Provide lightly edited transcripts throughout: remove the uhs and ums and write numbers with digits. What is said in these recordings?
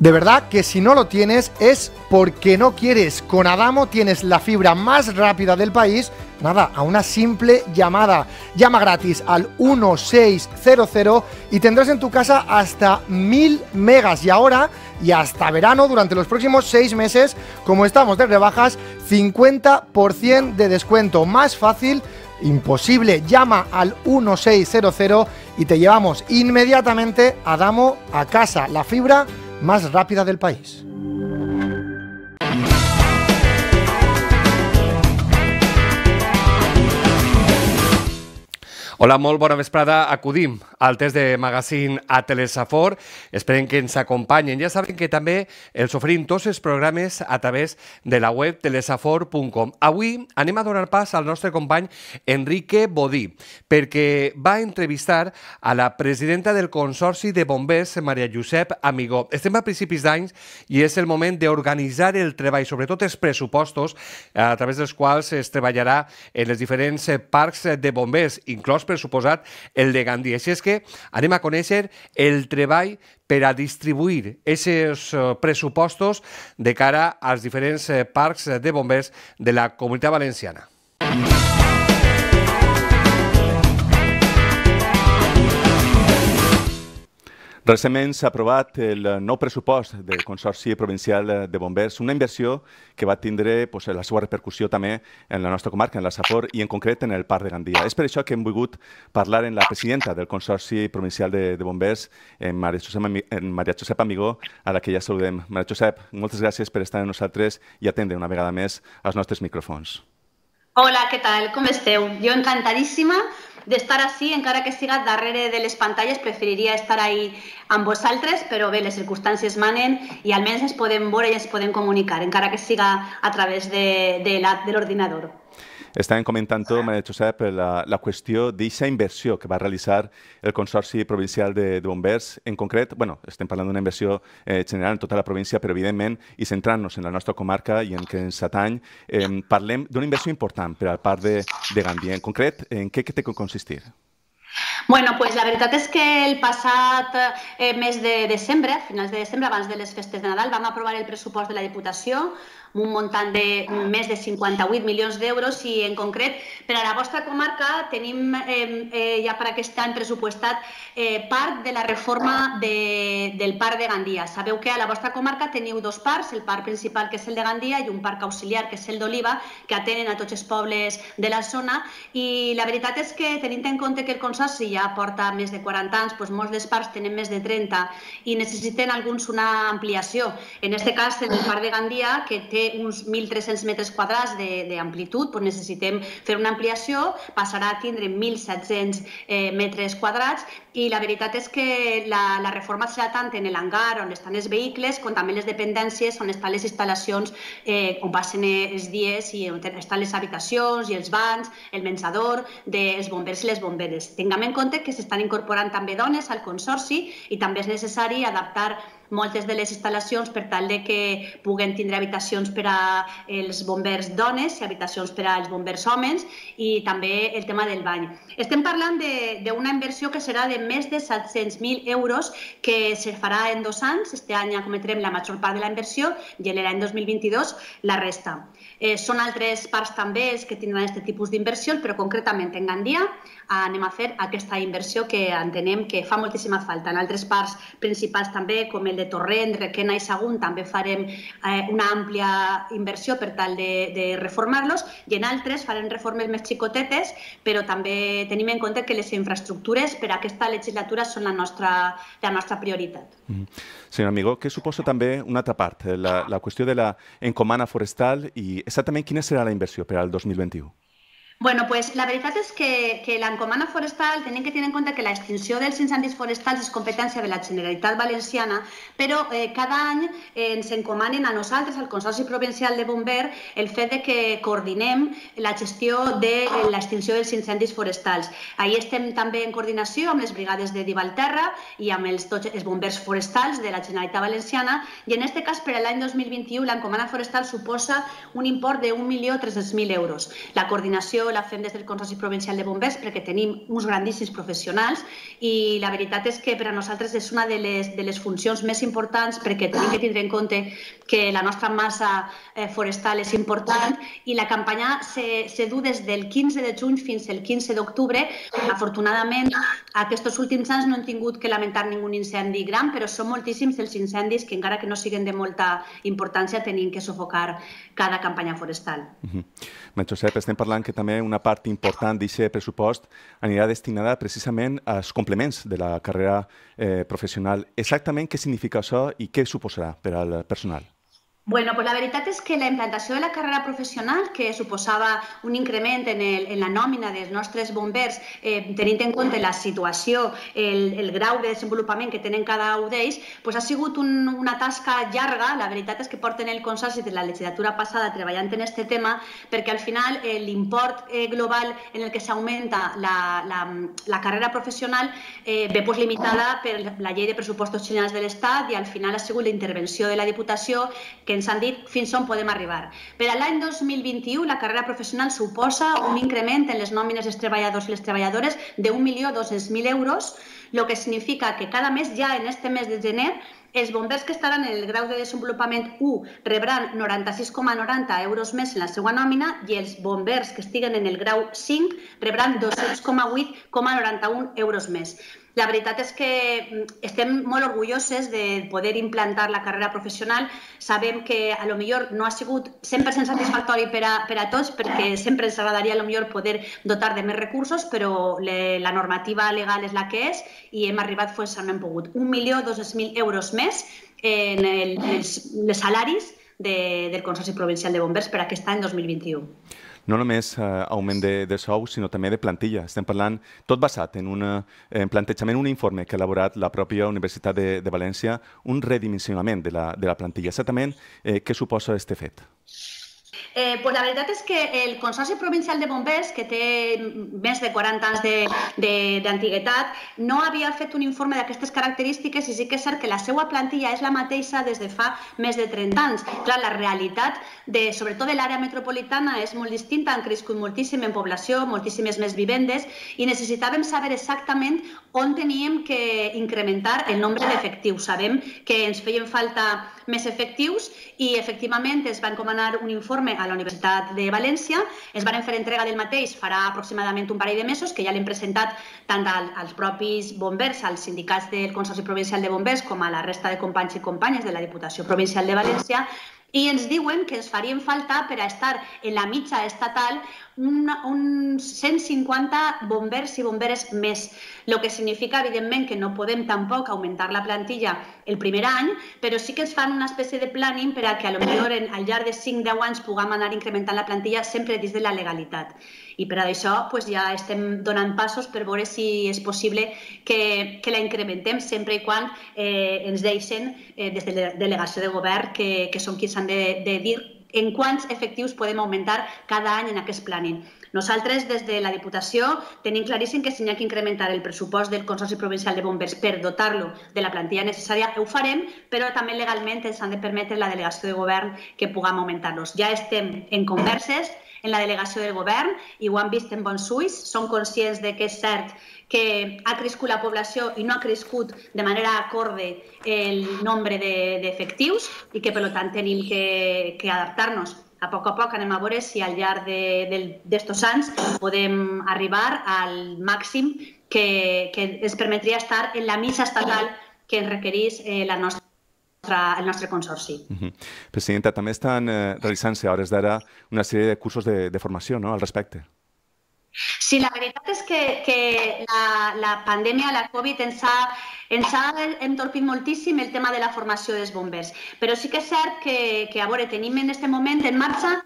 De verdad que si no lo tienes es porque no quieres. Con Adamo tienes la fibra más rápida del país, nada, a una simple llamada. Llama gratis al 1600 y tendrás en tu casa hasta 1000 megas. Y ahora, y hasta verano, durante los próximos 6 meses, como estamos de rebajas, 50% de descuento. Más fácil imposible. Llama al 1600 y te llevamos inmediatamente Adamo a casa. La fibra más rápida del país. Hola, molt bona vesprada. Acudim al test de magazine a Telesafor. Esperem que ens acompanyen. Ja saben que també els oferim tots els programes a través de la web telesafor.com. Avui anem a donar pas al nostre company Enrique Bodí, perquè va entrevistar a la presidenta del Consorci de Bombers, Maria Josep Amigó. Estem a principis d'any i és el moment d'organitzar el treball, sobretot els pressupostos a través dels quals es treballarà en els diferents parcs de bombers, inclòs per suposat el de Gandia. Així és que anem a conèixer el treball per a distribuir aquests pressupostos de cara als diferents parcs de bombers de la Comunitat Valenciana. Recentment s'ha aprovat el nou pressupost del Consorci Provincial de Bombers, una inversió que va tindre la seva repercussió també en la nostra comarca, en la Safor i en concret en el Parc de Gandia. És per això que hem volgut parlar amb la presidenta del Consorci Provincial de Bombers, Maria Josep Amigó, a la que ja saludem. Maria Josep, moltes gràcies per estar amb nosaltres i atendre una vegada més als nostres micròfons. Hola, què tal? Com esteu? Jo encantadíssima d'estar així, encara que siga darrere de les pantalles, preferiria estar ahí amb vosaltres, però bé, les circumstàncies manen i almenys ens podem veure i ens podem comunicar, encara que siga a través de l'ordinador. Estàvem comentant, Maria Josep, la qüestió d'aquesta inversió que va realitzar el Consorci Provincial de Bombers. En concret, estem parlant d'una inversió general en tota la província, però evidentment, i centrant-nos en la nostra comarca i en què ens atany, parlem d'una inversió important per al Parc de Gandia. En concret, en què té que consistir? Bueno, pues la veritat és que el passat mes de desembre, a finals de desembre, abans de les festes de Nadal, vam aprovar el pressupost de la Diputació amb un muntant de més de 58 milions d'euros i, en concret, per a la vostra comarca tenim ja per aquest any pressupostat part de la reforma del Parc de Gandia. Sabeu que a la vostra comarca teniu dos parcs, el parc principal, que és el de Gandia, i un parc auxiliar, que és el d'Oliva, que atenen a tots els pobles de la zona. I la veritat és que, tenint en compte que el Consorci ja porta més de 40 anys, doncs molts dels parcs tenen més de 30 i necessiten alguns una ampliació. En aquest cas, el Parc de Gandia, que té uns 1.300 metres quadrats d'amplitud, doncs necessitem fer una ampliació, passarà a tindre 1.700 metres quadrats i la veritat és que la reforma serà tant en l'hangar on estan els vehicles com també les dependències on estan les instal·lacions on passen els dies i on estan les habitacions i els banys, el menjador dels bombers i les bomberes. Tinguem en compte que s'estan incorporant també dones al Consorci i també és necessari adaptar moltes de les instal·lacions per tal que puguen tindre habitacions per als bombers dones i habitacions per als bombers homes i també el tema del bany. Estem parlant d'una inversió que serà de més de 700.000 euros que se farà en 2 anys. Este any ja cometrem la major part de la inversió i l'any 2022 la resta. Són altres parcs també els que tindran aquest tipus d'inversions, però concretament en Gandia anem a fer aquesta inversió que entenem que fa moltíssima falta. En altres parcs principals també, com el de Torrent, Requena i Sagunt, també farem una àmplia inversió per tal de reformar-los i en altres farem reformes més xicotetes, però també tenim en compte que les infraestructures per a aquesta legislatura són la nostra prioritat. Senyor Amigó, què suposa també una altra part, la qüestió de l'encomana forestal i exactament quina serà la inversió per al 2021? Bueno, pues la veritat és que l'encomana forestal, tenim que tenir en compte que l'extinció dels incendis forestals és competència de la Generalitat Valenciana, però cada any ens encomanen a nosaltres, al Consorci Provincial de Bombers, el fet que coordinem la gestió de l'extinció dels incendis forestals. Ahí estem també en coordinació amb les brigades de Divalterra i amb tots els bombers forestals de la Generalitat Valenciana i en aquest cas per l'any 2021 l'encomana forestal suposa un import de 1.300.000 euros. La coordinació diputació la fem des del Consorci Provincial de Bombers perquè tenim uns grandíssims professionals i la veritat és que per a nosaltres és una de les funcions més importants perquè tenim que tindre en compte que la nostra massa forestal és important i la campanya se du des del 15 de juny fins al 15 d'octubre. Afortunadament, aquests últims anys no hem tingut que lamentar ningú incendi gran, però són moltíssims els incendis que encara que no siguin de molta importància tenim que sufocar cada campanya forestal. Josep, estem parlant que també una part important d'aquest pressupost anirà destinada precisament als complements de la carrera professional. Exactament què significa això i què suposarà per al personal? Bueno, pues la veritat és que la implantació de la carrera professional, que suposava un increment en la nòmina dels nostres bombers, tenint en compte la situació, el grau de desenvolupament que tenen cada un d'ells, ha sigut una tasca llarga. La veritat és que porten el Consorci de la legislatura passada treballant en aquest tema, perquè al final l'import global en el que s'augmenta la carrera professional ve limitada per la llei de pressupostos generals de l'Estat i al final ha sigut la intervenció de la Diputació que ens han dit fins on podem arribar. Per a l'any 2021, la carrera professional suposa un increment en les nòmines dels treballadors i les treballadores de 1.200.000 euros, el que significa que cada mes, ja en este mes de gener, els bombers que estaran en el grau de desenvolupament 1 rebran 96,90 euros més en la seva nòmina i els bombers que estiguen en el grau 5 rebran 208,91 euros més. La veritat és que estem molt orgulloses de poder implantar la carrera professional. Sabem que potser no ha sigut 100% satisfactori per a tots perquè sempre ens agradaria potser poder dotar de més recursos, però la normativa legal és la que és i hem arribat fins on hem pogut. 1.200.000 euros més en els salaris del Consorci Provincial de Bombers per aquest any 2021. No només augment de sou, sinó també de plantilla. Estem parlant tot basat en un plantejament, un informe que ha elaborat la pròpia Universitat de València, un redimensionament de la plantilla. Exactament, què suposa aquest fet? La veritat és que el Consorci Provincial de Bombers, que té més de 40 anys d'antiguitat, no havia fet un informe d'aquestes característiques i sí que és cert que la seva plantilla és la mateixa des de fa més de 30 anys. Clar, la realitat, sobretot de l'àrea metropolitana, és molt distinta, han crescut moltíssim en població, moltíssimes més vivendes i necessitàvem saber exactament on teníem que incrementar el nombre d'efectius. Sabem que ens feien falta més efectius i efectivament es va encomanar un informe a la Universitat de València, es van fer entrega del mateix farà aproximadament un parell de mesos, que ja l'hem presentat tant als propis bombers, als sindicats del Consorci Provincial de Bombers, com a la resta de companys i companyes de la Diputació Provincial de València, i ens diuen que ens farien falta per a estar en la mitja estatal uns 150 bombers i bomberes més, el que significa, evidentment, que no podem tampoc augmentar la plantilla el primer any, però sí que ens fan una espècie de planning per a que potser al llarg de 5-10 anys puguem anar incrementant la plantilla sempre dins de la legalitat. I per això ja estem donant passos per veure si és possible que la incrementem sempre i quan ens deixen des de la delegació de govern, que són qui s'han de dir en quants efectius podem augmentar cada any en aquest planning. Nosaltres, des de la Diputació, tenim claríssim que si n'hi ha que incrementar el pressupost del Consorci Provincial de Bombers per dotar-lo de la plantilla necessària, ho farem, però també legalment ens han de permetre la delegació de govern que puguem augmentar-los. Ja estem en converses en la delegació del govern i ho han vist en bons ulls. Són conscients que és cert que ha crescut la població i no ha crescut de manera acorde el nombre d'efectius i que, per tant, tenim que adaptar-nos. A poc anem a veure si al llarg d'estos anys podem arribar al màxim que ens permetria estar en la mitja estatal que ens requereix el nostre consorci. Presidenta, també estan realitzant-se a hores d'ara una sèrie de cursos de formació al respecte. Sí, la veritat és que la pandèmia, la Covid, ens ha entorpit moltíssim el tema de la formació dels bombers. Però sí que és cert que tenim en aquest moment en marxa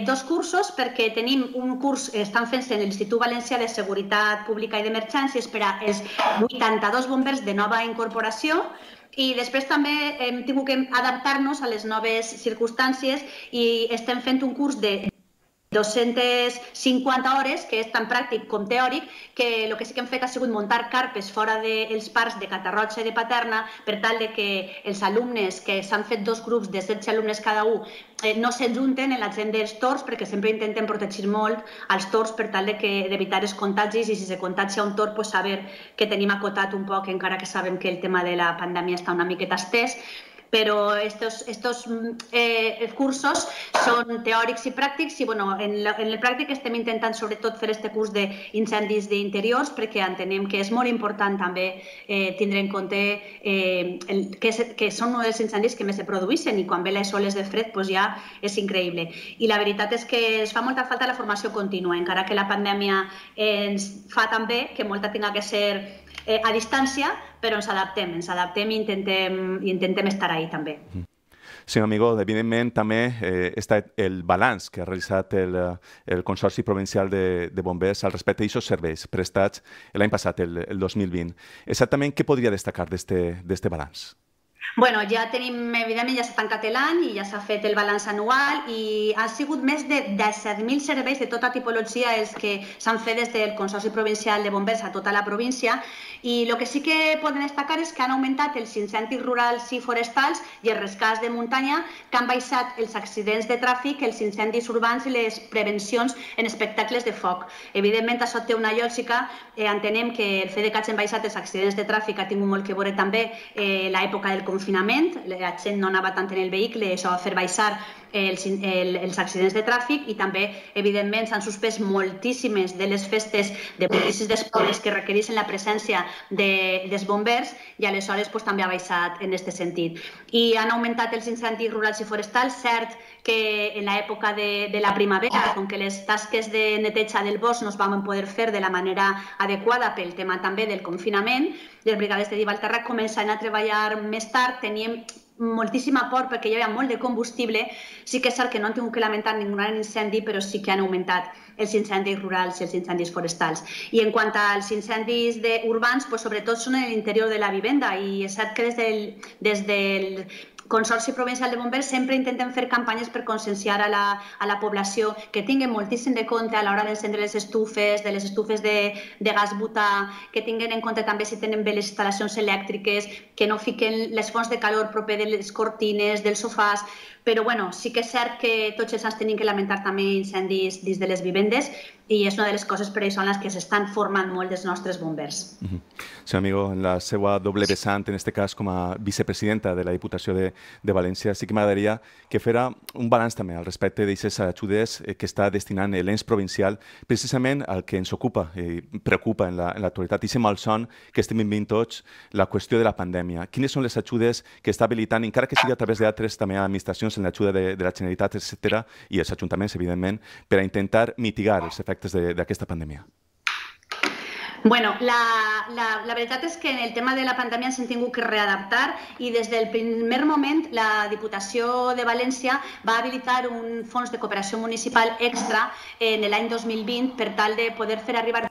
dos cursos, perquè tenim un curs, estan fent-se en l'Institut Valencià de Seguretat Pública i d'Emergències per als 82 bombers de nova incorporació, i després també hem tingut que adaptar-nos a les noves circumstàncies i estem fent un curs de 250 hores, que és tant pràctic com teòric, que el que sí que hem fet ha sigut muntar carpes fora dels parcs de Catarroja i de Paterna per tal de que els alumnes, que s'han fet 2 grups de 16 alumnes cada un, no s'enjunten en la gent dels tors, perquè sempre intentem protegir molt els tors per tal d'evitar els contagis, i si se contagia un tor, pues saber que tenim acotat un poc, encara que sabem que el tema de la pandèmia està una miqueta estès. Però estos cursos són teòrics i pràctics, i en el pràctic estem intentant sobretot fer este curs d'incendis d'interiors, perquè entenem que és molt important també tindre en compte que són uns dels incendis que més se produeixen, i quan ve les oles de fred ja és increïble. I la veritat és que ens fa molta falta la formació contínua, encara que la pandèmia ens fa també que molta tinga que ser a distància, però ens adaptem i intentem estar ahí també. Senyor Amigó, evidentment també està el balanç que ha realitzat el Consorci Provincial de Bombers al respecte d'aquests serveis prestats l'any passat, el 2020. Exactament què podria destacar d'este balanç? Bueno, ja tenim, evidentment, ja s'ha tancat l'any i ja s'ha fet el balanç anual, i han sigut més de 17.000 serveis de tota tipologia els que s'han fet des del Consorci Provincial de Bombers a tota la província, i el que sí que poden destacar és que han augmentat els incendis rurals i forestals i els rescats de muntanya, que han baixat els accidents de tràfic, els incendis urbans i les prevencions en espectacles de foc. Evidentment, això té una lògica. Entenem que el fet que hagin baixat els accidents de tràfic ha tingut molt que veure també l'època del confinament, la gent no anava tant en el vehicle, això va fer baixar els accidents de tràfic, i també, evidentment, s'han suspès moltíssimes de les festes de policies d'esports que requereixen la presència dels bombers, i aleshores també ha baixat en aquest sentit. I han augmentat els incendis rurals i forestals, cert que en l'època de la primavera, com que les tasques de neteja del bosc no es van poder fer de la manera adequada pel tema també del confinament, les brigades de Divalterra començaven a treballar més tard, teníem moltíssima por perquè hi havia molt de combustible. Sí que és cert que no han tingut que lamentar ningú gran incendi, però sí que han augmentat els incendis rurals i els incendis forestals. I en quant als incendis urbans, sobretot són en l'interior de la vivenda, i és cert que des del Consorci Provincial de Bombers sempre intentem fer campanyes per conscienciar a la població, que tinguen moltíssim de compte a l'hora d'encendre les estufes, de les estufes de gas butà, que tinguen en compte també si tenen bé les instal·lacions elèctriques, que no fiquen les fonts de calor proper de les cortines, dels sofàs. Però sí que és cert que tots els anys tenim que lamentar també incendis dins de les vivendes, i és una de les coses per això en les que s'estan formant molt els nostres bombers. Senyor Amigó, en la seva doble vessant, en aquest cas com a vicepresidenta de la Diputació de València, sí que m'agradaria que fera un balanç també al respecte d'aquestes ajudes que està destinant l'ens provincial precisament al que ens ocupa i preocupa en l'actualitat, i aquest malson que estem vivint tots, la qüestió de la pandèmia. Quines són les ajudes que està habilitant, encara que sigui a través d'altres també administracions, en l'ajuda de la Generalitat, etc., i els ajuntaments, evidentment, per a intentar mitigar els efectes d'aquesta pandèmia? Bueno, la veritat és que en el tema de la pandèmia ens hem tingut que readaptar, i des del primer moment la Diputació de València va habilitar un fons de cooperació municipal extra en l'any 2020 per tal de poder fer arribar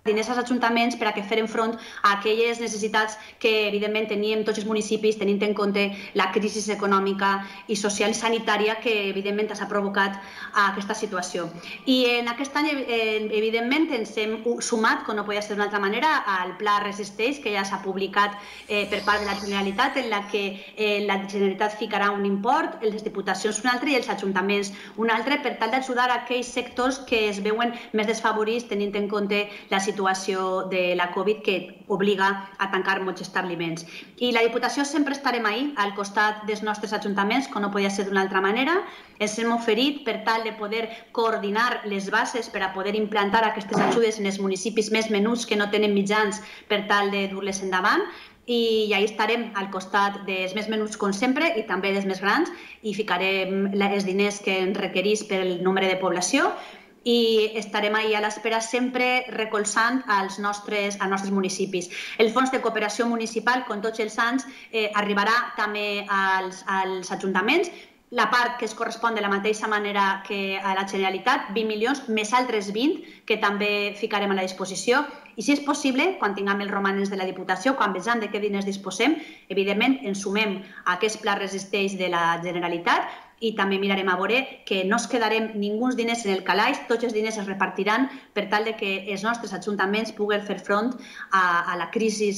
diners als ajuntaments per a que feren front a aquelles necessitats que evidentment teníem tots els municipis, tenint en compte la crisi econòmica i social sanitària que evidentment s'ha provocat a aquesta situació. I en aquest any evidentment ens hem sumat, com no podia ser d'una altra manera, al Pla Resisteix, que ja s'ha publicat per part de la Generalitat, en la que la Generalitat ficarà un import, les diputacions un altre i els ajuntaments un altre, per tal d'ajudar a aquells sectors que es veuen més desfavorits tenint en compte la situació de la Covid, que obliga a tancar molts establiments. I la Diputació sempre estarem ahí, al costat dels nostres ajuntaments, com no podia ser d'una altra manera. Ens hem oferit per tal de poder coordinar les bases per a poder implantar aquestes ajudes en els municipis més menuts que no tenen mitjans per tal de dur-les endavant, i ahí estarem al costat dels més menuts com sempre i també dels més grans, i ficarem els diners que ens requereix pel nombre de població, i estarem ahí a l'espera sempre recolzant als nostres municipis. El fons de cooperació municipal, com tots els anys, arribarà també als ajuntaments. La part que es correspon de la mateixa manera que a la Generalitat, 20 milions, més altres 20, que també ficarem a la disposició. I si és possible, quan tinguem els romanents de la Diputació, quan vegem de què diners disposem, evidentment ens sumem a aquest Pla Resisteix de la Generalitat, i també mirarem a veure que no es quedarem ninguns diners en el calaix, tots els diners es repartiran per tal de que els nostres ajuntaments puguen fer front a la crisi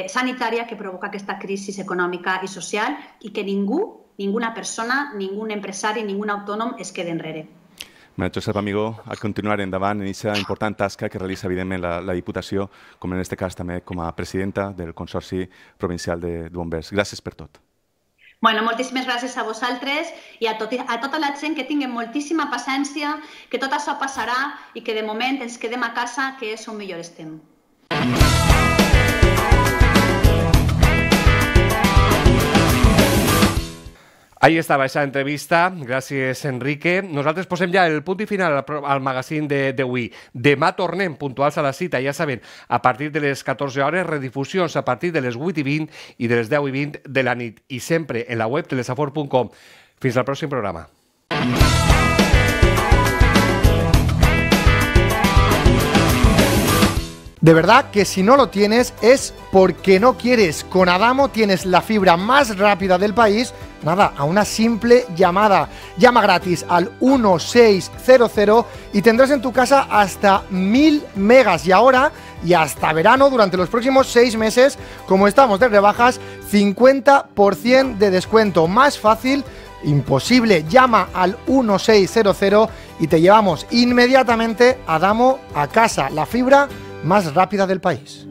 sanitària que provoca aquesta crisi econòmica i social i que ninguna persona, ningú empresari, ningú autònom es quede enrere. Josep Amigó, a continuar endavant en aquesta important tasca que realitza, evidentment, la Diputació, com en aquest cas també com a presidenta del Consorci Provincial de Bombers. Gràcies per tot. Bueno, moltíssimes gràcies a vosaltres i a tota la gent que tinguin moltíssima paciència, que tot això passarà i que de moment ens quedem a casa, que és on millor estem. Ahí estava aquesta entrevista, gràcies Enrique. Nosaltres posem ja el punt i final al magazín d'avui. Demà tornem puntuals a la cita, ja saben, a partir de les 14 hores, redifusions a partir de les 8:20 i de les 10:20 de la nit. I sempre en la web telesafor.com. Fins al pròxim programa. De verdad que si no lo tienes es porque no quieres. Con Adamo tienes la fibra más rápida del país, nada, a una simple llamada. Llama gratis al 1600 y tendrás en tu casa hasta 1000 megas. Y ahora, y hasta verano, durante los próximos 6 meses, como estamos de rebajas, 50% de descuento. Más fácil, imposible. Llama al 1600 y te llevamos inmediatamente Adamo a casa. La fibra más rápida del país.